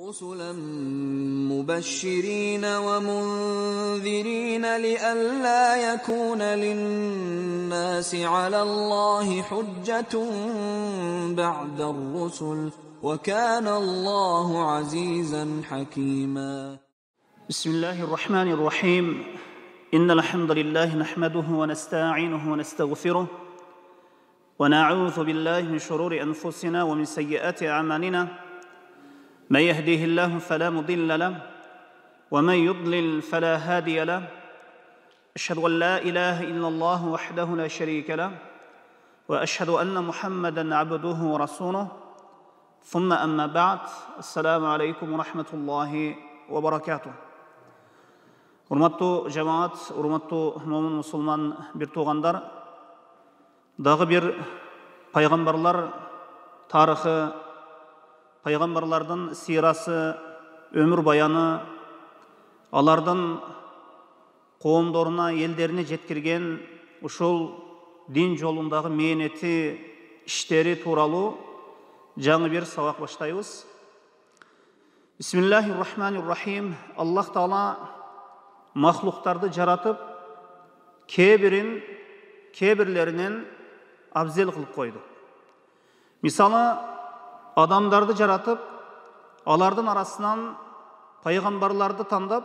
رسلا مبشرين ومنذرين لئلا يكون للناس على الله حجة بعد الرسل وكان الله عزيزا حكيما. بسم الله الرحمن الرحيم. إن الحمد لله نحمده ونستعينه ونستغفره ونعوذ بالله من شرور أنفسنا ومن سيئات أعمالنا. من يهديه الله فلا مضل له ومن يضلل فلا هادي له. أشهد أن لا إله إلا الله وحده لا شريك له وأشهد أن محمدا عبده ورسوله. ثم أما بعد. السلام عليكم ورحمة الله وبركاته. Урматтуу жамаат, урматтуу момун мусулман бир туугандар, дагы бир пайгамбарлар тарыхы, пайгамбарлардын сирасы, өмүр баяны, алардын коомдоруна, элдерине жеткирген ушул дин жолундагы мээнети, иштери тууралуу жаңы бир сабак баштайбыз. Бисмиллахир-рахманир-рахим. Аллах Таала махлуктарды жаратып, кебирлеринен абзел кылып койду. Мисалы, адамдарды жаратып, алардын арасынан пайгамбарларды тандап,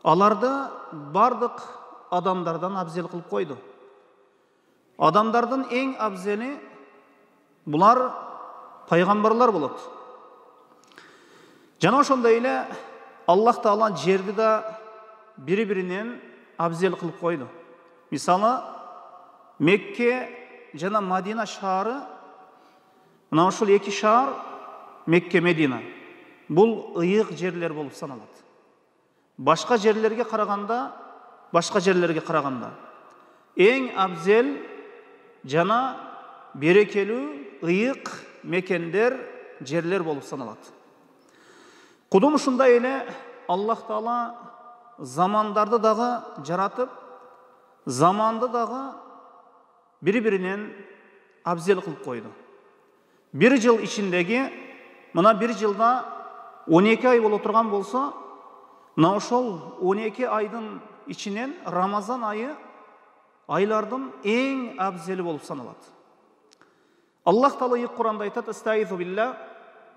аларды бардык адамдардан абзел кылып койду. Адамдардын эң абзели булар пайгамбарлар болот. Жана ошондой эле Аллах Таала жерди да бири-биринен абзел кылып койду. Мисалы, Мекке жана Мадина шаары, мына ушул эки шаар, Мекке, Медина, бул ыйык жерлер болуп саналат. Башка жерлерге караганда эң абзел жана берекелүү ыйык мекендер, жерлер болуп саналат. Кудум ушундай эле Аллах Таала замандарды дагы жаратып, заманды дагы бири-биринен абзел кылып койду. Бир жыл ичиндеги, мына бир жылда 12 ай боло турган болсо, мына ошол 12 айдын ичинен Рамазан айы айлардын эң абзели болуп саналат. Аллах Таала ыйык Куранда айтат: "Астаизу билла,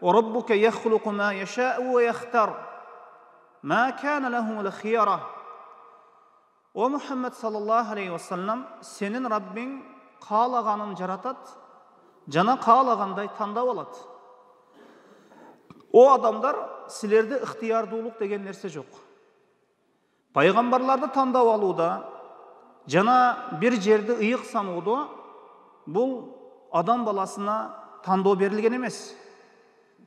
ва раббука яхлуqu ма яша'у ва яхтар, ма кана лахумул хияра." О Мухаммад саллаллаху алейхи ва саллям, сенин Раббиң каалаганын жаратат, жана каалагандай тандап алат. О адамдар, силерде ыктыярдуулук деген нерсе жок. Пайгамбарларды тандап алууда жана бир жерди ыйык саноодо бул адам баласына тандоо берилген эмес.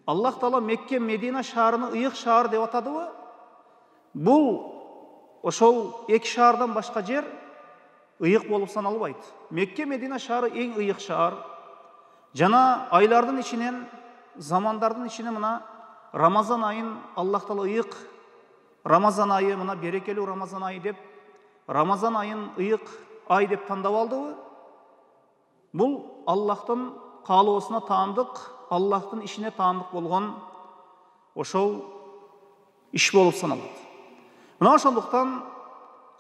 Аллах Таала Мекке, Медина шаарыны ыйык шаар деп атадыбы? Бул ошол эки шаардан башка жер ыйык болуп саналбайт. Мекке, Медина шаары эң ыйык шаар. Жана айлардын ичинен, замандардын ичинен мына Рамазан айын Аллах Таала ыйык Рамазан айы, мына берекелүү Рамазан айы деп, Рамазан айын ыйык ай деп тандап алдыбы? Бул Аллахтын каалоосуна таандык, Аллахтын ишине таандык болгон ошол иш болуп саналат. Мына ошондуктан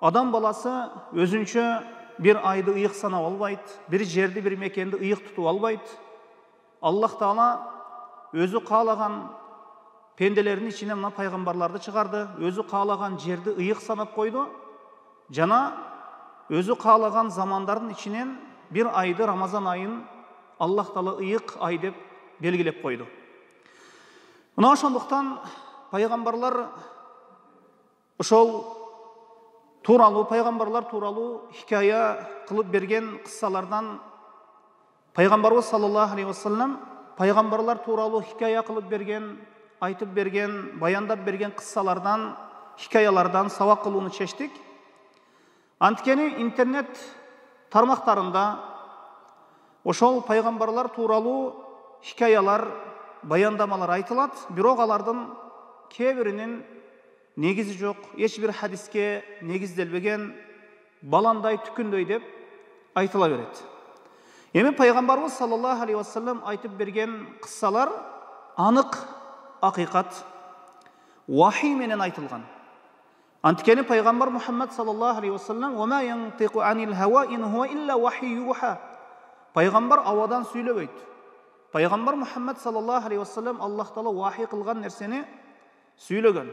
адам баласы өзүнчө бир айды ыйык санап албайт, бир жерди, бир мекенди ыйык тутуп албайт. Аллах Таала өзү каалаган пенделердин ичинен мына пайгамбарларды чыгарды, өзү каалаган жерди ыйык санап койду, жана өзү каалаган замандардын ичинен бир айды, Рамазан айын Аллах Таала ыйык ай деп белгилеп койду. Мына ошондуктан пайгамбарлар ошол пайгамбарлар тууралуу хикая кылып берген кыссалардан, пайгамбарыбыз саллаллаху алейхи ва саллям пайгамбарлар тууралуу хикая кылып берген, айтып берген, баяндап берген кыссалардан, хикаялардан сабак кылууну чечтик. Анткени интернет тармактарында ошол пайгамбарлар тууралуу хикаялар, баяндамалар айтылат, бирок алардын кээ негизи жок, эч бир хадиске негизделбеген, баландай түкүндөй деп айтыла берет. Эми пайгамбарыбыз саллаллаху алейхи ва саллям айтып берген кыссалар анык акыйкат вахий менен айтылган. Анткени пайгамбар Мухаммад саллаллаху алейхи вассалам "Ва ма янтиqu анил хава ин хуа илля вахий юха". Пайгамбар авадан сүйлөбөйт. Пайгамбар Мухаммад саллаллаху алейхи вассалам Аллах Таала вахий кылган нерсени сүйлөгөн.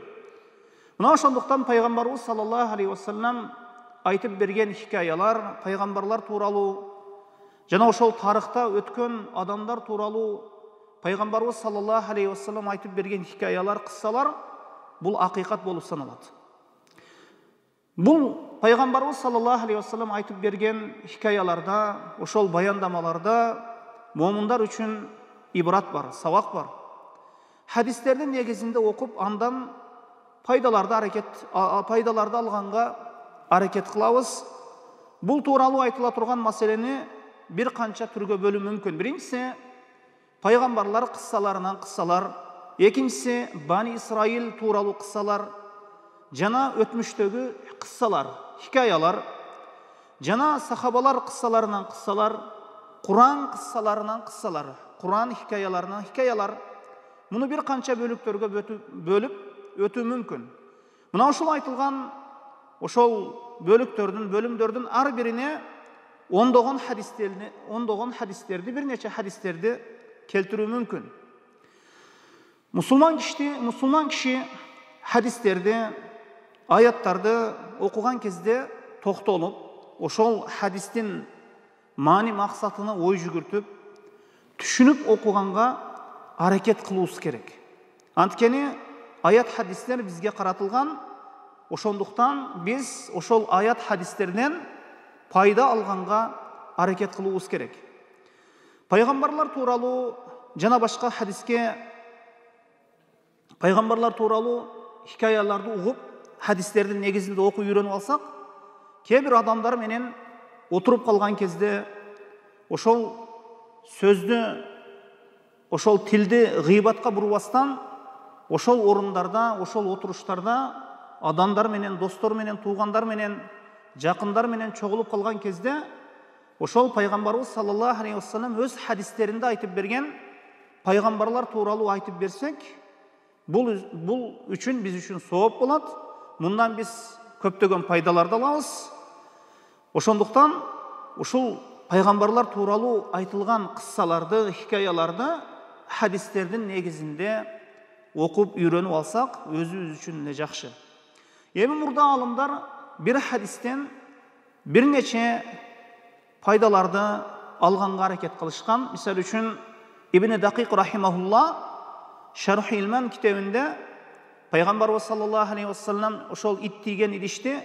Мына ошондуктан пайгамбарыбыз саллаллаху алейхи вассалам айтып берген хикаялар, пайгамбарлар тууралуу жана ошол тарыхта өткөн адамдар тууралуу пайгамбарыбыз саллаллаху алейхи вассалам айтып берген хикаялар, кыссалар бул акыйкат болуп саналат. Бул пайгамбарыбыз саллаллаху алейхи вассалам айтып берген хикаяларда, ошол баяндамаларда момундар үчүн ибрат бар, сабак бар. Хадистердин негизинде окуп, андан пайдаларды алганга аракет кылабыз. Бул тууралуу айтыла турган маселени бир канча түргө бөлүү мүмкүн. Биринчиси пайгамбарлар кыссаларынан кыссалар, экинчиси Бани Исраил тууралуу кыссалар, жана өтмүштөгү кыссалар, хикаялар, жана сахабалар кыссаларынан кыссалар, Куран кыссаларынан кыссалар, Куран хикаяларынан хикаялар. Муну бир канча бөлүктөргө бөлүп өтүү мүмкүн. Мына ушул айтылган ошол бөлүмдөрдүн ар бирине ондогон хадистерди, бир нече хадистерди келтирүү мүмкүн. Мусулман киши хадистерди, аяттарды окуган кезде токтолуп, ошол хадистин маани максатына ой жүгүртүп, түшүнүп окуганга аракет кылуубуз керек. Анткени аят хадистер бизге каратылган, ошондуктан биз ошол аят хадистерден пайда алганга аракет кылуубуз керек. Пайгамбарлар тууралуу жана башка хадиске пайгамбарлар тууралуу хикаяларды угуп, хадистердин негизинде окуп үйрөнүп алсак, кээ бир адамдар менен отуруп калган кезде ошол сөздү, ошол тилди гыйбатка бурбастан, ошол орундарда, ошол отуруштарда адамдар менен, достор менен, туугандар менен, жакындар менен чогулуп калган кезде ошол пайгамбарыбыз саллаллаху алейхи вассалам өз хадистеринде айтып берген пайгамбарлар тууралуу айтып берсек, бул үчүн биз үчүн сооп болот. Мындан биз көптөгөн пайдаларды алабыз. Ошондуктан ушул пайгамбарлар тууралуу айтылган кыссаларды, хикаяларды хадистердин негизинде окуп үйрөнүп алсак, өзүбүз үчүн эле жакшы. Эми мурда алымдар бир хадистен бир нече пайдаларды алганга аракет кылышкан. Мисалы үчүн Ибн Дакик рахимахулла Шарх Илман китебинде пайгамбарыбыз саллаллаху алейхи вассалам ошол ит тийген идишти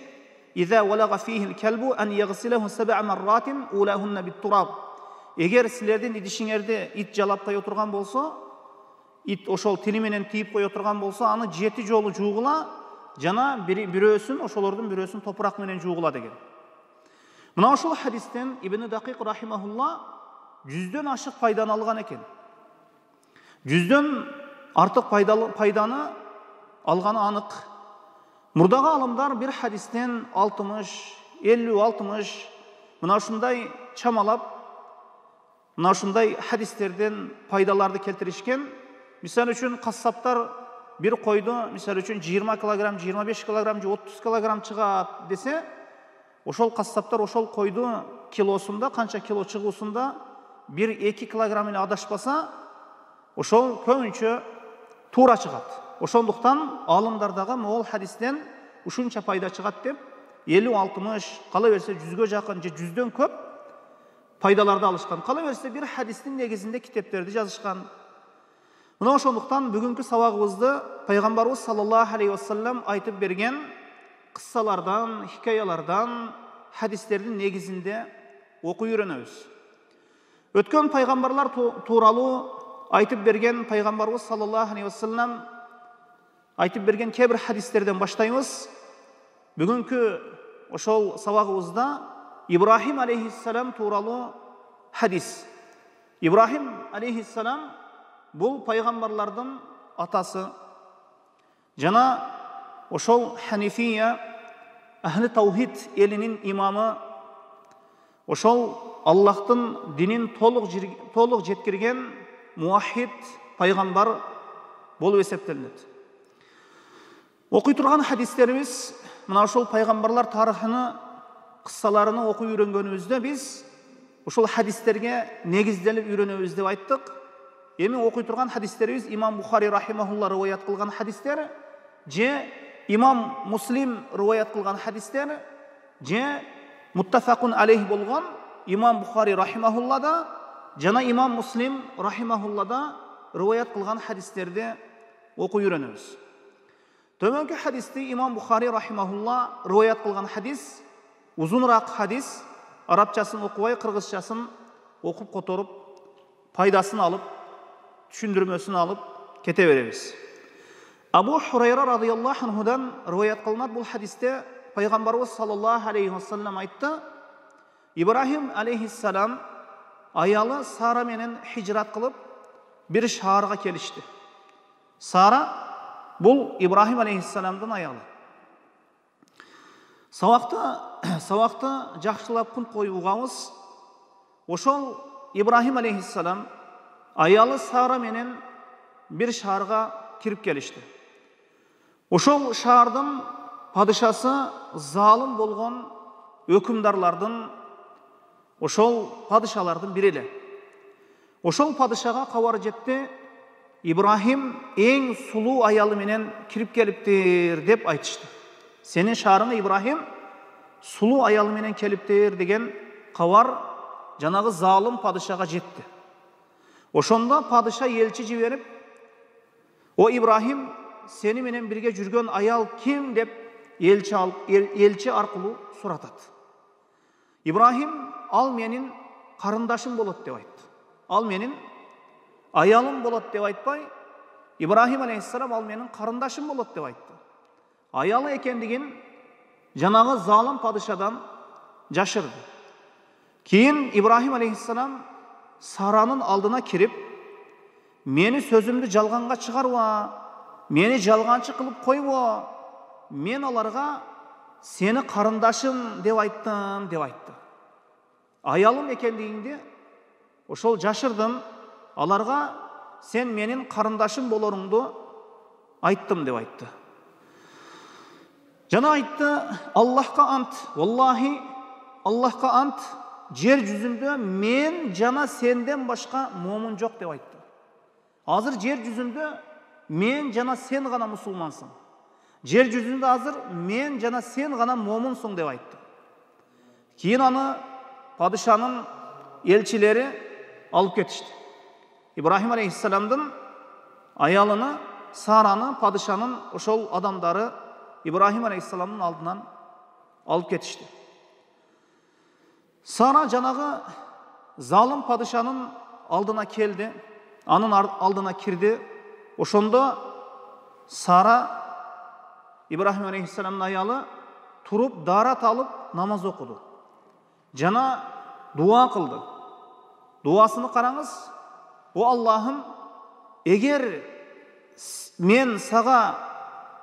"Иза валага фихил калбу ан ягсилаху 7 марратин улахунна бит-тураб". Эгер силердин идишиңерди ит жалап кое турган болсо, ит ошол тили менен тийип кое турган болсо, аны 7 жолу жуугула, жана ошолордун бирөөсүн топурак менен жуугула деген. Мына ошол хадистен Ибн Дакик рахимахулла 100дөн ашык пайданы алган экен. 100дөн артык пайданы алганы анык. Мурдагы алымдар бир хадистен 60, 50, 60 мына ушундай чамалап, мына ушундай хадистерден пайдаларды келтиришкен. Мисалы үчүн кассаптар бир койду, мисалы үчүн 20 килограмм, 25 килограмм же 30 килограмм чыгат десе, ошол кассаптар ошол койду килосунда, канча кило чыгуусунда 1-2 килограмм эле адашпаса, ошол көбүнчө туура чыгат. Ошондуктан алымдардагы могул хадистен ушунча пайда чыгат деп 50-60, кала берсе 100гө жакын же 100дөн көп пайдаларды алышкан. Кала берсе бир хадистин негизинде китептерди жазышкан. Мына ошондуктан бүгүнкү сабагыбызды пайгамбарыбыз саллаллаху алейхи вассалам айтып берген кыссалардан, хикаялардан, хадистердин негизинде окуп үйрөнөбүз. Өткөн пайгамбарлар тууралуу айтып берген пайгамбарыбыз саллаллаху алейхи вассалам айтып берген кээ бир хадистерден баштайбыз. Бүгүнкү ошол сабагыбызда Ибрахим алейхиссалам тууралуу хадис. Ибрахим алейхиссалам бул пайгамбарлардын атасы. Жана ошол Ханифия, Ахли таухид элинин имамы, ошол Аллахтын динин толук жеткирген муахид пайгамбар, болуп эсептелинет. Окуй турган хадистерибиз мына ошол пайгамбарлар тарыхыны, кыссаларыны окуй үйрөнгөнүбүздө биз ошол хадистерге негизделип үйрөнөбүз деп айттык. Эми окуй турган хадистерибиз имам Бухари рахимахулла риваят кылган хадистер, же имам Муслим риваят кылган хадистер, же муттафакун алейх болгон имам Бухари рахимахуллада жана имам Муслим рахимахуллада риваят кылган хадистерди окуй үйрөнөбүз. Төмөнкү хадисти имам Бухари рахимахулла риваят кылган хадис узунураак хадис, арабчасын окубай кыргызчасын окуп которуп, пайдасын алып, түшүндүрмөсүн алып кете беребиз. Абу Хурайра радыйаллаху анхудан риваят кылынат бул хадисте пайгамбарыбыз саллаллаху алейхи вассалам айтты: Ибрахим алейхиссалам аялы Сара менен хижрат кылып бир шаарга келишти. Сара бул Ибрахим алейхиссаламдын аялы. Сабакты жакшылап күн коюп угабыз. Ошол Ибрахим алейхиссалам аялы Сара менен бир шаарга кирип келишти. Ошол шаардын падышасы залым болгон өкүмдарлардын, ошол падышалардын бири эле. Ошол падышага кабар жетти: Ибрахим эң сулуу аялы менен кирип келиптир деп айтышты. Сенин шаарыңа Ибрахим сулуу аялы менен келиптир деген кабар жанагы залым падышага жетти. Ошондо падыша элчи жиберип: "О Ибрахим, сени менен бирге жүргөн аял ким?" деп элчи аркылуу суратат. Ибрахим: "Ал менин карындашым болот" деп айтты. Ал менин аялым болот деп айтпай, Ибрахим алейхиссалам ал менин карындашым болот деп айтты. Аялы экендигин жанагы залым падышадан жашырды. Кийин Ибрахим алейхиссалам Саранын алдына кирип: "Мени сөзүмдү жалганга чыгарба, мени жалганчы кылып койбо. Мен аларга сени карындашым деп айттым" деп айтты. Аялым экендигиңди ошол жашырдым, аларга сен менин карындашым болоруңду айттым деп айтты. Жана айтты: "Аллахка ант, валлахи, Аллахка ант, жер жүзүндө мен жана сенден башка момун жок" деп айтты. Азыр жер жүзүндө мен жана сен гана мусулмансың. Жер жүзүндө азыр мен жана сен гана момунсуң деп айтты. Кийин аны падышанын элчилери алып кетишти. Ибрахим алейхиссаламдын аялыны, Сараны падышанын ошол адамдары Ибрахим алейхиссаламдын алдынан алып кетишти. Сара жанагы залым падышанын алдына келди, анын алдына кирди. Ошондо Сара, Ибрахим алейхиссаламдын аялы, туруп дарат алып намаз окуду. Жана дуа кылды. Дуасыны караңыз: "О Аллахым, эгер мен сага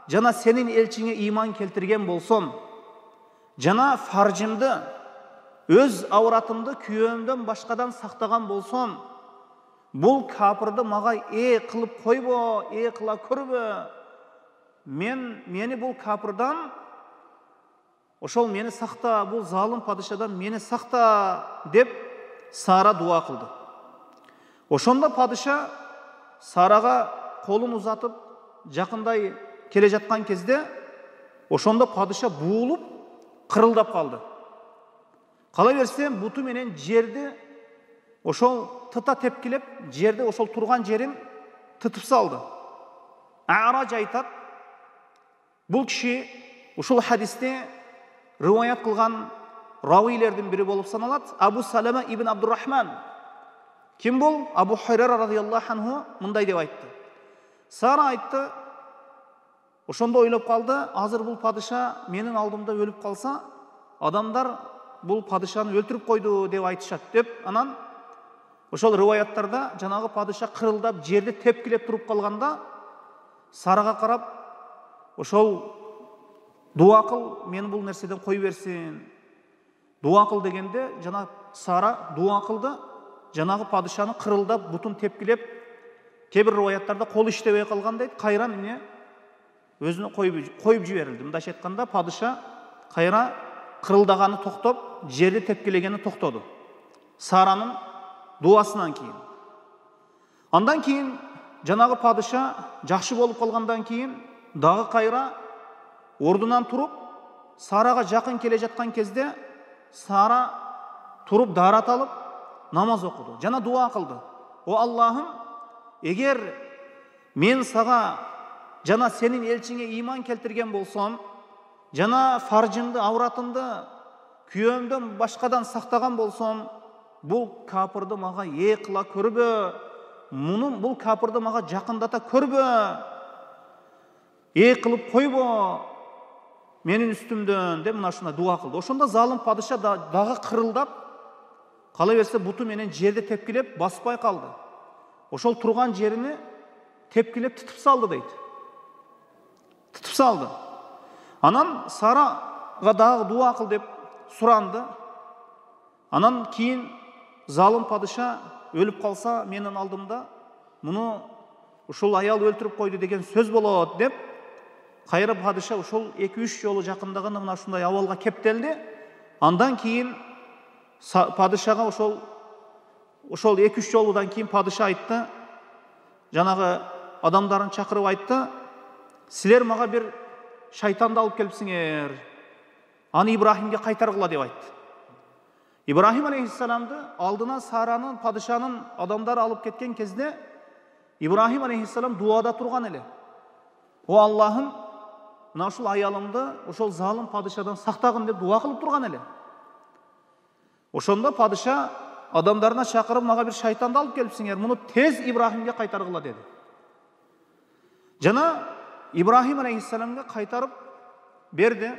жана сенин элчиңе ыйман келтирген болсом, жана фаржымды, өз ауратымды күйөөмдөн башкадан сактаган болсом, бул капырды мага кылып койбо, кыла көрбө. Мени бул капырдан, ошол мени сакта, бул залым падышадан мени сакта" деп Сара дуа кылды. Ошондо падыша Сарага колун узатып жакындай келе жаткан кезде, ошондо падыша буулуп кырылдап калды. Кала берсе буту менен жерди ошол тыта тепкилеп, жерди ошол турган жерин тытып салды. Араж айтат, бул киши ушул хадисте риваят кылган равилердин бири болуп саналат, Абу Салама ибн Абдуррахман. Ким бул? Абу Хурайра радыйаллаху анху мындай деп айтты. Сара айтты, ошондо ойлоп калды: азыр бул падыша менин алдымда өлүп калса, адамдар бул падышаны өлтүрүп койду деп айтышат деп, анан ошол риваяттарда жанагы падыша кырылдап жерди тепкилеп туруп калганда, Сарага карап: "Ошол дуа кыл, мен бул нерседен кой берсин. Дуа кыл" дегенде, жана Сара дуа кылды. Жанагы падышаны кырылдап, бутун тепкилеп, кээ бир риваяттарда кол иштебей калган дейт, кайра эмне өзүнө коюп жиберилди. Мындайча айтканда, падыша кайра кырылдаганы токтоп, жерди тепкилегени токтоду. Саранын дуасынан кийин. Андан кийин жанагы падыша жакшы болуп калгандан кийин дагы кайра ордунан туруп, Сарага жакын келе жаткан кезде Сара туруп дарат алып намаз окуду. Жана дуа кылды. О Аллахым, эгер мен сага жана сенин элчиңе ыйман келтирген болсом, жана фаржымды, авратымды күйөөмдөн башкадан сактаган болсом, бул капырды мага кыла көрбө. Бул капырды мага жакындата көрбө. Кылып койбо менин үстүмдөн деп мына ушундай дуа кылды. Ошондо залым падыша дагы кырылдап, кала берсе буту менен жерди тепкилеп баспай калды. Ошол турган жерини тепкилеп тытып салды дейт. Тытып салды. Анан Сарага дагы дуа кыл деп суранды. Анан кийин залым падыша өлүп калса менин алдымда муну ушул аял өлтүрүп койду деген сөз болот деп, кайра падыша ушул 2-3 жолу жакындаганда мына ушундай абалга кептелди. Андан кийин падышага ошол 2-3 жолудан кийин падыша айтты, жанагы адамдарын чакырып айтты, силер мага бир шайтанды алып келипсиңер, аны Ибрахимге кайтаргыла деп айтты. Ибрахим алейхиссаламды алдына Саранын, падышанын адамдары алып кеткен кезде Ибрахим алейхиссалам дуада турган эле. О Аллахым, мына ушул аялымды ошол залым падышадан сактагын деп дуа кылып турган эле. Ошондо падыша адамдарына чакырып, мага бир шайтанды алып келипсиңер, муну тез Ибрахимге кайтаргыла деди. Жана Ибрахим алейхиссаламга кайтарып берди.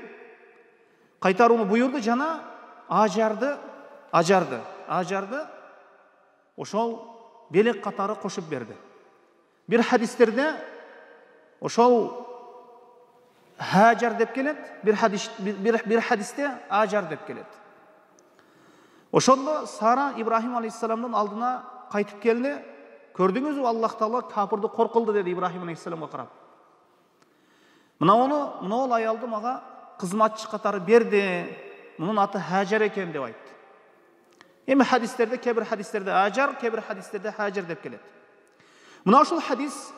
Кайтарууну буйрду, жана Ажарды ошол белек катары кошуп берди. Бир хадистерде ошол Хажар деп келет, бир хадисте Ажар деп келет. Ошондо Сара Ибрахим алейхиссаламдын алдына кайтып келди. Көрдүңүзбү, Аллах Таала капырды коркулду деди Ибрахим алейхиссаламга карап. Мына ол аялды мага кызматчы катары берди. Мунун аты Хажар экен деп айтты. Эми хадистерде, кээ бир хадистерде Ажар, кээ бир хадистерде Хажар деп келет. Мына ушул хадис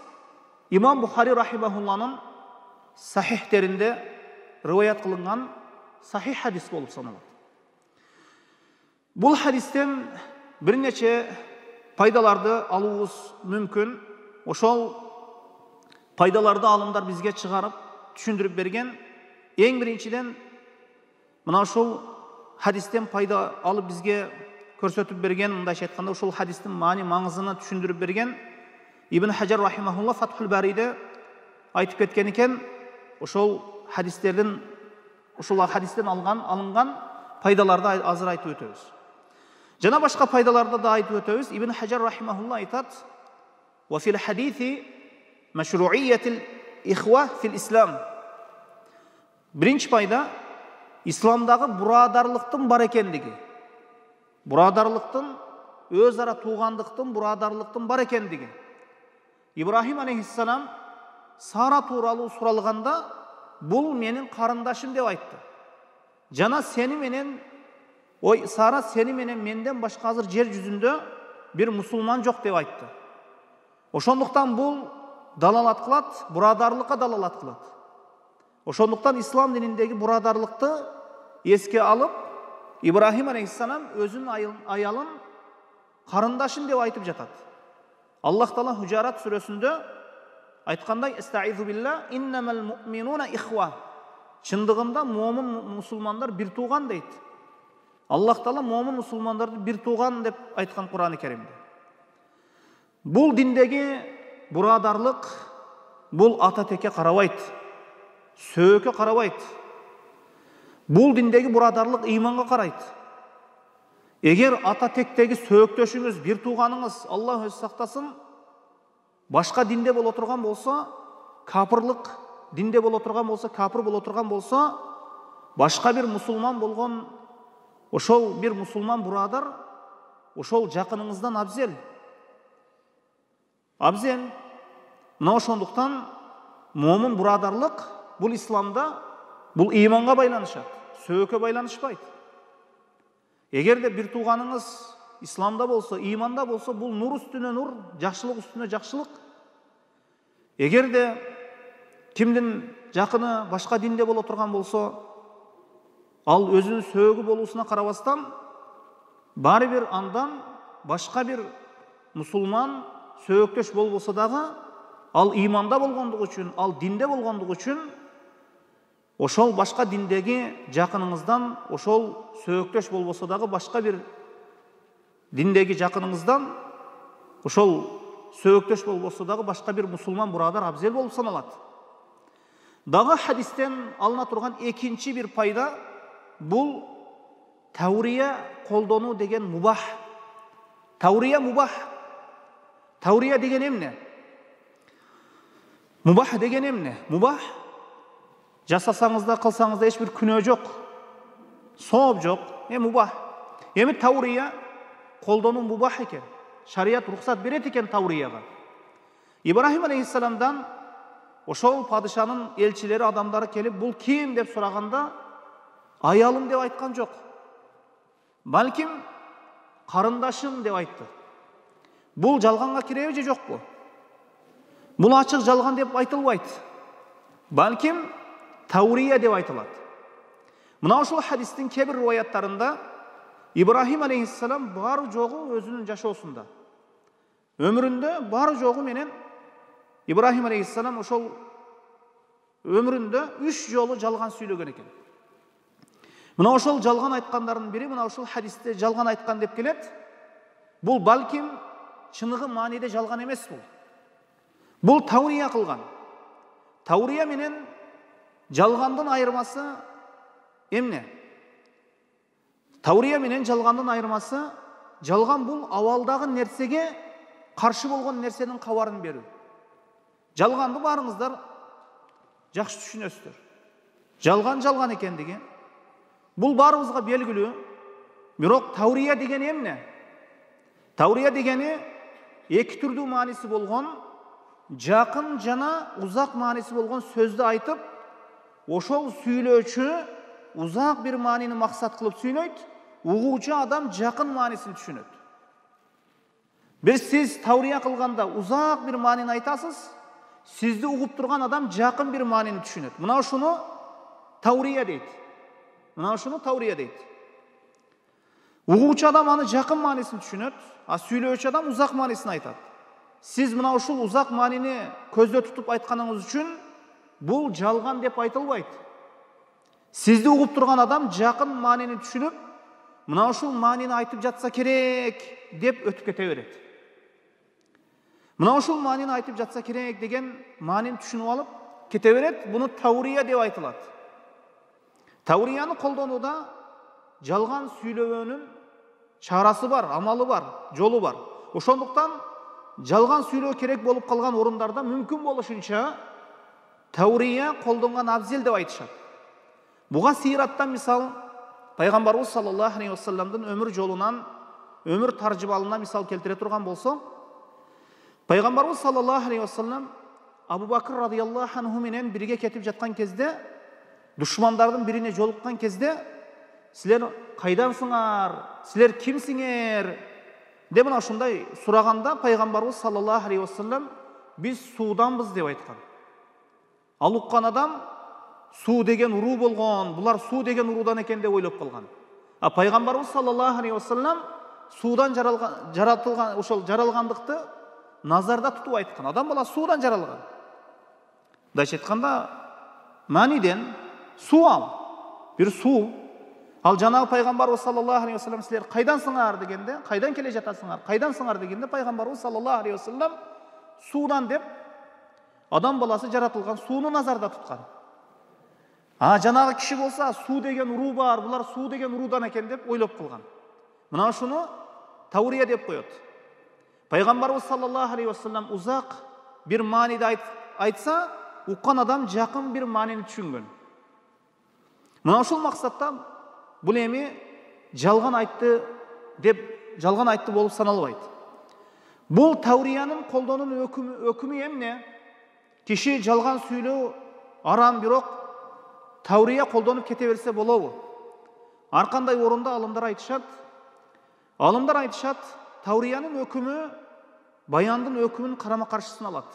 Имам Бухари рахимахулланын сахихтеринде риваят кылынган сахих хадис болуп саналат. Бул хадистен бир нече пайдаларды алуубуз мүмкүн. Ошол пайдаларды алымдар бизге чыгарып, түшүндүрүп берген. Эң биринчиден мына ушул хадистен пайда алып бизге көрсөтүп берген, мындайча айтканда ушул хадистин маңызын түшүндүрүп берген Ибн Хажар рахимахулла Фатхул Бариде айтып кеткен экен. Ушул хадистен алынган пайдаларды азыр айтып өтөбүз. Жана башка пайдаларды да айтып өтөбүз. Ибн Хажар рахимахулла айтат: "Ва фил хадиси машру'iyyatил ихва фил ислам." Биринчи пайда исламдагы бурадарлыктын бар экендиги. Бурадарлыктын, өз ара туугандыктын, бурадарлыктын бар экендиги. Ибрахим алейхиссалам Сара тууралуу суралганда, бул менин карындашым деп айтты. Жана сени менен, Сара сени менен менден башка азыр жер жүзүндө бир мусулман жок деп айтты. Ошондуктан бул далалат кылат, бурадарлыкка далалат кылат. Ошондуктан ислам дининдеги бурадарлыкты эске алып, Ибрахим алейхиссалам өзүнүн аялын карындашым деп айтып жатат. Аллах Таала Хужарат сүрөсүндө айткандай: "Эстаизу билла, иннамал муъминуна ихва." Чындыгында момун мусулмандар бир тууган дейт. Аллах Таала момун мусулмандарды бир тууган деп айткан Кур'ан-ы Каримде. Бул диндеги бурадарлык бул ата текке карабайт, сөөгө карабайт. Бул диндеги бурадарлык ыйманга карайт. Эгер ата тектеги сөөктөшүңүз, бир тууганыңыз, Аллах өзү сактасын, башка динде боло турган болсо, капырлык динде боло турган болсо, капыр боло турган болсо, башка бир мусулман болгон ошол бир мусулман бурадар ошол жакыныңыздан абзел. абзел. Мына ошондуктан момун бурадарлык бул исламда бул ыйманга байланышат, сөөгкө байланышпайт. Эгерде бир тууганыңыз исламда болсо, ыйманда болсо, бул нур үстүнө нур, жакшылык үстүнө жакшылык. Эгерде кимдин жакыны башка динде боло турган болсо, ал өзүнүн сөөгү болуусуна карабастан баары бир андан башка бир мусулман сөөктөш болбосо дагы, ал ыйманда болгондугу үчүн, ал динде болгондугу үчүн ошол башка диндеги жакыныңыздан, ошол сөөктөш болбосо дагы башка бир диндеги жакыныңыздан, ошол сөөктөш болбосо дагы башка бир мусулман бурадар абзел болуп саналат. Дагы хадистен алына турган экинчи бир пайда бул таврия колдонуу деген мубах. Таврия мубах. Таврия деген эмне? Мубах деген эмне? Мубах жасасаңыз да, кылсаңыз да эч бир күнөө жок, сооп жок. Мубах. Эми таврия колдонуу мубах экен. Шарият рухсат берет экен таврияга. Ибрахим алейхиссаламдан ошол падышанын элчилери, адамдары келип, бул ким деп сураганда, аялым деп айткан жок. Балким карындашым деп айтты. Бул жалганга киреби же жокпу? Бул ачык жалган деп айтылбайт. Балким таврия деп айтылат. Мына ошол хадистин кээ бир риваяттарында Ибрахим алейхиссалам баары жогу өзүнүн жашоосунда, өмүрүндө баары жогу менен Ибрахим алейхиссалам ошол өмүрүндө 3 жолу жалган сүйлөгөн экен. Мына ошол жалган айткандарынын бири, мына ошол хадисте жалган айткан деп келет. Бул балким чыныгы мааниде жалган эмес бул. Бул таврия кылган. Таврия менен жалгандын айырмасы эмне? Таврия менен жалгандын айырмасы, жалган бул абалдагы нерсеге каршы болгон нерсенин кабарын берүү. Жалганды баарыңыздар жакшы түшүнөсүздөр. Жалган жалган экендиги бул баарыбызга белгилүү. Бирок таврия деген эмне? Таврия дегени эки түрдүү мааниси болгон, жакын жана узак мааниси болгон сөздү айтып, ошол сүйлөөчү узак бир маанини максат кылып сүйлөйт, угуучу адам жакын маанисин түшүнөт. Сиз таврия кылганда узак бир маанини айтасыз, сизди угуп турган адам жакын бир маанини түшүнөт. Мына ушуну таврия дейт. Мына ушуну таврия дейт. Угуучу адам аны жакын маанисин түшүнөт, а сүйлөөчү адам узак маанисин айтат. Сиз мына ушул узак маанини көздө тутуп айтканыңыз үчүн бул жалган деп айтылбайт. Сизди угуп турган адам жакын маанини түшүнүп, мына ушул маанини айтып жатса керек деп өтүп кете берет. Мына ушул маанини айтып жатса керек деген маанини түшүнүп алып кете берет. Буну таврия деп айтылат. Таврияны колдонууда жалган сүйлөөнүн чарасы бар, амалы бар, жолу бар. Ошондуктан жалган сүйлөө керек болуп калган орундарда мүмкүн болушунча таврия колдонгон абзел деп айтышат. Буга сыйраттан мисал пайгамбарыбыз саллаллаху алейхи вассаламдын өмүр жолунан, өмүр таржыбалынан мисал келтире турган болсо, пайгамбарыбыз саллаллаху алейхи вассалам Абу Бакр радыйаллаху анху менен бирге кетип жаткан кезде, душмандардын бирине жолуккан кезде, силер кайдансыңар, силер кимсиңер деп мына ушундай сураганда, пайгамбарыбыз саллаллаху алейхи вассалам биз сууданбыз деп айткан. Ал уккан адам суу деген уруу болгон, булар суу деген уруудан экен деп ойлоп калган. А пайгамбарыбыз саллаллаху алейхи вассалам суудан жаратылган, ошол жаралгандыкты назарда тутуп айткан. Адам бала суудан жаралган. Дайча айтканда мааниден суу ал, бир суу. Ал жанагы пайгамбарыбыз саллаллаху алейхи вассалам силер кайдансыңар дегенде, кайдан келе жатасыңар, кайдансыңар дегенде, пайгамбарыбыз саллаллаху алейхи вассалам суудан деп адам баласы жаратылган сууну назарда туткан. Жанагы киши болса суу деген уруу бар, булар суу деген уруудан экен деп ойлоп калган. Мына ушуну таврия деп коет. Пайгамбарыбыз саллаллаху алейхи вассалам узак бир мааниде айтса, уккан адам жакын бир маанини түшүнгөн. Мына ушул максатта бул эми жалган айтты болуп саналбайт. Бул Тавриянын колдонуу өкүмү эмне? Киши жалган сүйлөө арам, бирок Таврия колдонуп кете берсе болобу? Ар кандай орунда алымдар айтышат. Тавриянын өкүмү баяндын өкүмүнүн карама-каршысын алат.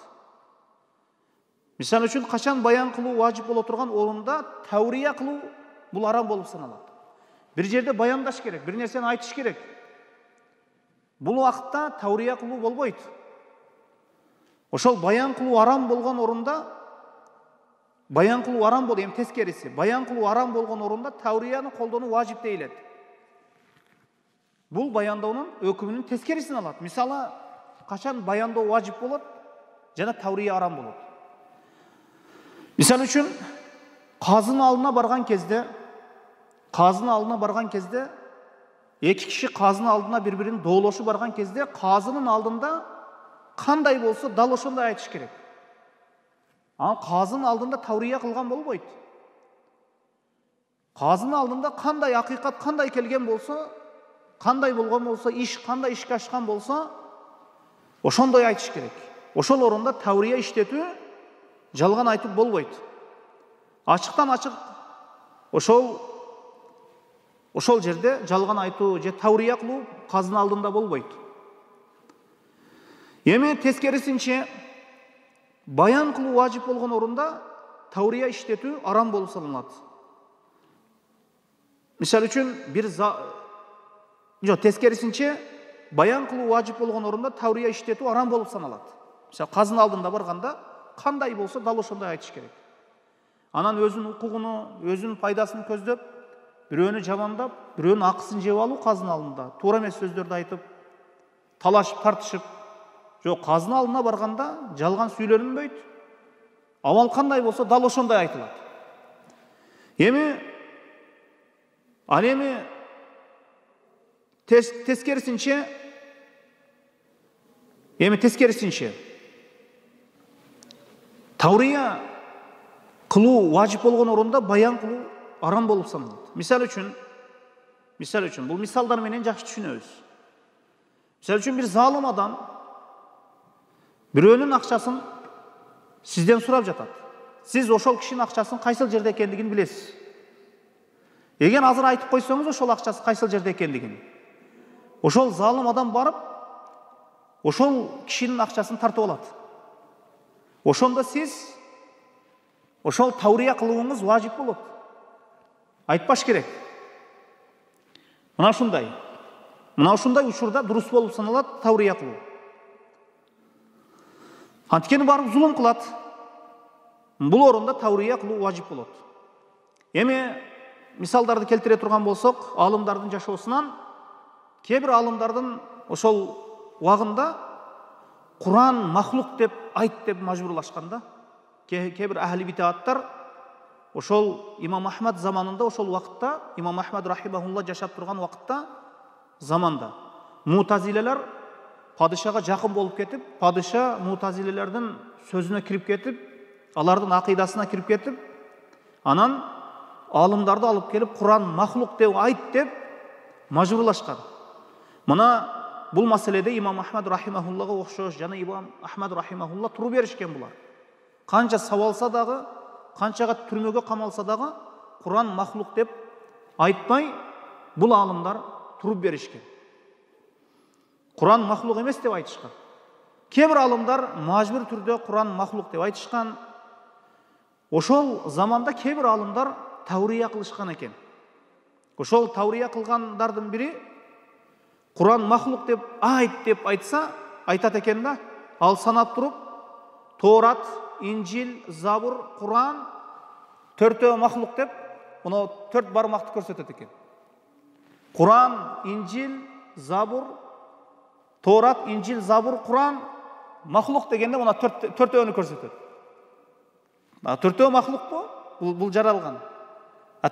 Мисалы үчүн качан баян кылуу важип боло турган орунда Таврия кылуу бул арам болуп саналат. Бир жерде баяндаш керек, бир нерсени айтыш керек. Бул убакытта Таврия кылуу болбойт. Ошол баян кылуу арам болгон орунда баян кылуу арам болду, эми тескериси. Баян кылуу арам болгон орунда Таврияны колдонуу важип дейилет. Бул баянdoonун өкүмүнүн тескерисин алат. Мисалы, качан баяндоо важип болот жана Таврия арам болот. Мисалы үчүн, казынын алдына барган кезде, эки киши казынын алдына бири-бирин доолошу барган кезде, казынын алдында кандай болсо дал ошондой айтыш керек. Анан казынын алдында Таврия кылган болбойт. Казынын алдында кандай акыйкат кандай келген болсо, кандай болгон болсо, кандай ишке ашкан болсо, ошондой айтыш керек. Ошол орунда Таврия иштетүү, жалган айтып болбойт. Ачыктан ачык ошол жерде жалган айтуу же Таврия кылуу казынын алдында болбойт. Эми тескерисинче, баян кылуу важип болгон орунда Таврия иштетүү арам болуп саналат. Мисалы үчүн, тескерисинче, баян кылуу важип болгон орунда Таврия иштетүү арам болуп саналат. Мисалы, казынын алдында барганда кандай болсо дал ошондой айтыш керек. Анан өзүнүн укугуну, өзүнүн пайдасын көздөп, бирөөнү жамандап, бирөөнүн акысын жеп алуу казынын алдында, туура эмес сөздөрдү айтып, талашып, тартышып, казынын алдына барганда жалган сүйлөнбөйт. Абал кандай болсо дал ошондой айтылат. Эми тескерисинче, Таврия кылуу важип болгон орунда баян кылуу арам болуп саналат. Мисалы үчүн, бул мисалдар менен жакшы түшүнөбүз. Мисалы үчүн, бир залым адам бирөөнүн акчасын сизден сурап жатат. Сиз ошол кишинин акчасын кайсыл жерде экендигин билесиз. Эгер азыр айтып койсоңуз ошол акчасы кайсыл жерде экендигин, ошол залым адам барып, ошол кишинин акчасын тартып алат. Ошондо сиз ошол Таврия кылууңуз важип болот. Айтпаш керек. Мына ушундай учурда дурус болуп саналат Таврия кылуу. Анткени барып зулум кылат. Бул орунда Таврия кылуу важип болот. Эми мисалдарды келтире турган болсок, алымдардын жашоосунан, кээ бир алымдардын ошол убагында Куран махлук деп айт деп мажбурлашканда, кээ бир ахли битааттар ошол Имам Ахмад заманында, ошол убакытта, Имам Ахмад рахимахулла жашап турган убакытта, заманда мутазилелер падышага жакын болуп кетип, падыша мутазилелердин сөзүнө кирип кетип, алардын акыйдасына кирип кетип, анан алымдарды алып келип Куран махлук деп айт деп мажбурлашкан. Мына бул маселеде Имам Ахмад рахимахуллага окшош жана Имам Ахмад рахимахулла туруу беришкен булар. Канча сабалса дагы, канчага түрмөгө камалса дагы, Куран махлук деп айтпай, бул алымдар туруп беришкен. Куран махлук эмес деп айтышкан. Кээ бир алымдар мажбур түрдө Куран махлук деп айтышкан. Ошол заманда кээ бир алымдар Таврия кылышкан экен. Ошол Таврия кылгандардын бири Куран махлук деп айт деп айтса, айтат экен да, ал санап туруп, Тоорат, Инжил, Забур, Куран төртөө махлук деп, мына 4 бармакты көрсөтөт экен. Куран, Инжил, Забур, Тоорат, Инжил, Забур, Куран махлук дегенде мына төртөөнү көрсөтөт. Төртөө махлукпу? Бул жаралган.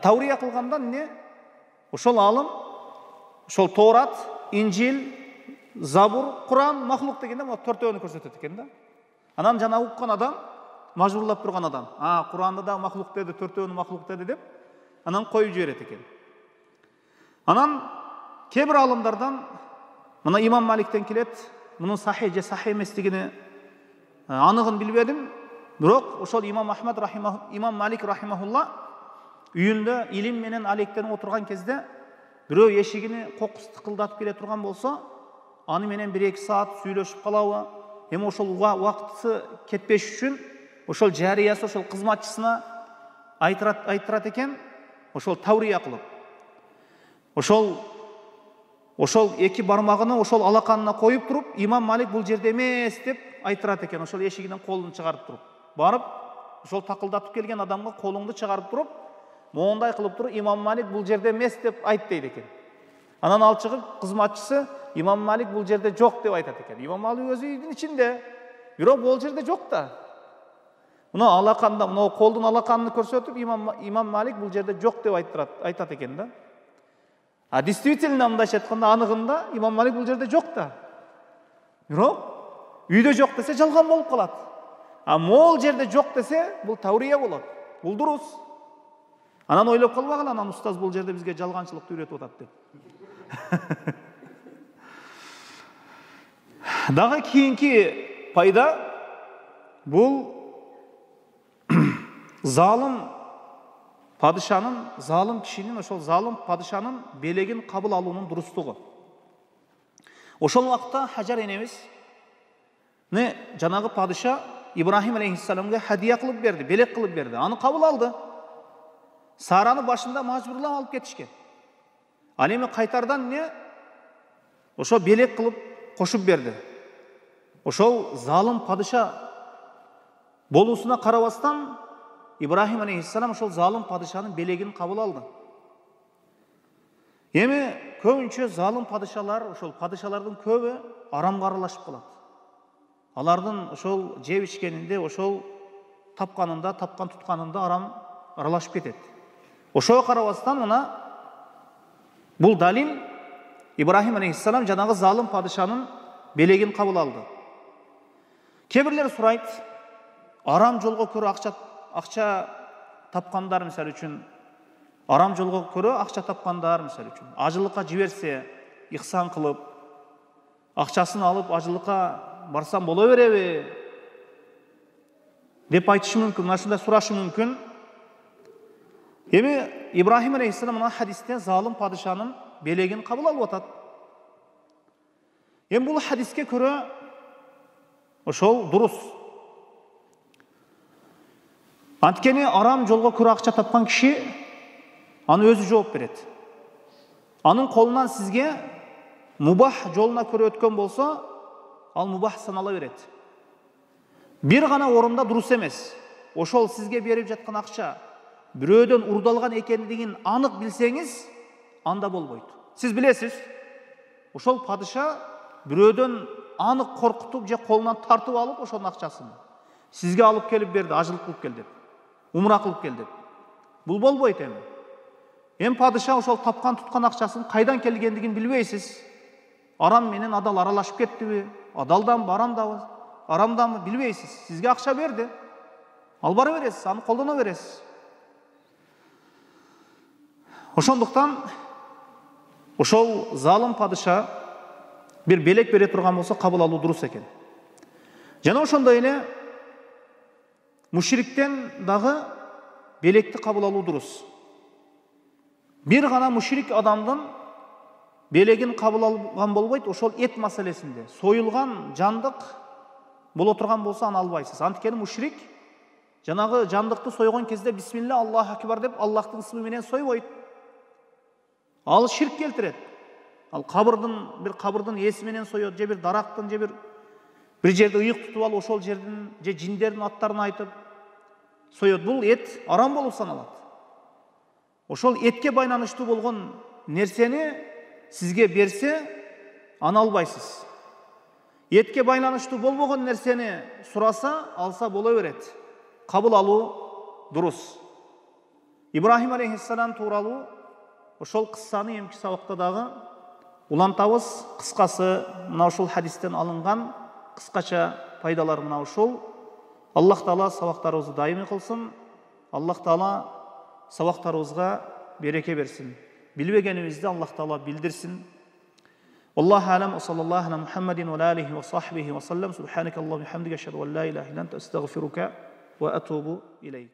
Таврия кылганда эмне? Ошол алым, ошол Тоорат, Инжил, Забур, Куран махлук дегенде мына төртөөнү көрсөтөт экен да. Анан жана уккан адам, мажбурлап турган адам, Куранды да махлук деди, төртөөнү махлук деди деп, анан коюп жиберет экен. Анан кээ бир алымдардан, мына Имам Маликтен келет, мунун сахih же сахih эместигини анығын билбедим. Бирок ошол имам Малик рахимахулла үйүндө илим менен алектенип отурган кезде бирөө эшигини кокус тыкылдатып келе турган болсо, аны менен 1-2 саат сүйлөшүп калабы. Эми ошол убакыты кетпеш үчүн ошол жариясы ошол кызматчысына айтырат экен, ошол таврия кылып. Ошол эки бармагын ошол алаканына коюп туруп, имам Малик бул жерде эмес деп айтырат экен. Ошол эшигинен колун чыгарып туруп, барып, ошол такылдатып келген адамга колуңду чыгарып туруп, моундай кылып туруп, имам Малик бул жерде эмес деп айт дейт экен. Анан ал чыгып, кызматчысы имам Малик бул жерде жок деп айтат экен. Имам Малик өзү үйдүн ичинде, бирок бул жерде жок да. Мына алаканда, мына колдун алаканын көрсөтүп, имам Малик бул жерде жок деп айтат экен да. А действительно мындайча айтканда, анығында имам Малик бул жерде жок да. Бирок үйдө жок десе жалган болуп калат. А могул жерде жок десе бул таврия болот. Бул дурус. Анан ойлоп калбагыла, анан устаз бул жерде бизге жалганчылыкты үйрөтүп атат деп. Дагы кийинки пайда бул залым падышанын, залым кишинин, ошол залым падышанын белегин кабыл алуунун дурустугу. Ошол убакта Хажар энебиз жанагы падыша Ибрахим алейхиссаламга хадия кылып берди, белек кылып берди. Аны кабыл алды. Сараны башында мажбурлап алып кетишкен. Ал эми кайтардан ошо белек кылып кошуп берди. Ошол залым падыша болуусуна карабастан Ибрахим алейхиссалам ошол залым падышанын белегин кабыл алды. Эми көбүнчө залым падышалар, ошол падышалардын көбү арамга аралашып калат. Алардын ошол жеп ичкенинде, ошол тапканында, тапкан тутканында арам аралашып кетет. Ошого карабастан мына бул далил Ибрахим алейхиссалам жанагы залым падышанын белегин кабыл алды. Кээ бирлер сурайт, арам жолго көрө акча тапкандар мисалы үчүн, арам жолго көрө акча тапкандар мисалы үчүн, ажылыкка жиберсе, ихсан кылып, акчасын алып ажылыкка барсам боло береби деп айтышы мүмкүн, мына ушундай сурашы мүмкүн. Эми Ибрахим алейхиссалам мына хадисте залым падышанын белегин кабыл алып атат. Эми бул хадиске көрө ошол дурус. Анткени арам жолго көрө акча тапкан киши аны өзү жооп берет. Анын колунан сизге мубах жолуна көрө өткөн болсо, ал мубах санала берет. Бир гана орунда дурус эмес. Ошол сизге берип жаткан акча бирөөдөн урдалган экендигин анык билсеңиз, анда болбойт. Сиз билесиз, ошол падыша бирөөдөн анык коркутуп же колунан тартып алып ошонун акчасын сизге алып келип берди, ажылык кылып кел деп, умра кылып кел деп. Бул болбойт эми. Эми падыша ошол тапкан туткан акчасын кайдан келгендигин билбейсиз. Арам менен адал аралашып кеттиби, адалданбы, арамданбы билбейсиз. Сизге акча берди. Албара бересиз, аны колдоно бересиз. Ошондуктан ошол залым падыша бир белек бере турган болсо кабыл алуу дурус экен. Жана ошондой эле мушриктен дагы белекти кабыл алуу дурус. Бир гана мушрик адамдын белегин кабыл алган болбойт, ошол эт маселесинде. Союлган жандык боло турган болсо аны албайсыз. Анткени мушрик жанагы жандыкты сойгон кезде бисмилла Аллаху акбар деп Аллахтын ысмы менен сойбойт. Ал ширк келтирет. Ал кабырдын эси менен соет, же бир дарактын, же бир жерде ыйык тутуп алып ошол жердин же жиндердин аттарын айтып соет. Бул эт арам болуп саналат. Ошол этке байланыштуу болгон нерсени сизге берсе, аны албайсыз. Этке байланыштуу болбогон нерсени сураса, алса боло берет. Кабыл алуу дурус. Ибрахим алейхиссалам тууралуу ошол кыссаны эмки сабакта дагы улантабыз. Кыскасы мына ушул хадистен алынган кыскача пайдалар мына ушул. Аллах Таала сабактарыбызды дайыми кылсын. Аллах Таала сабактарыбызга береке берсин. Билбегенибизди Аллах Таала билдирсин. Аллаху алам, саллаллаху аля Мухаммадин ва алихи ва сахбихи ва саллам. Субханакаллаху ва бихамдика, ашхаду ан ла илаха илля анта, астагфирука ва атубу илейк.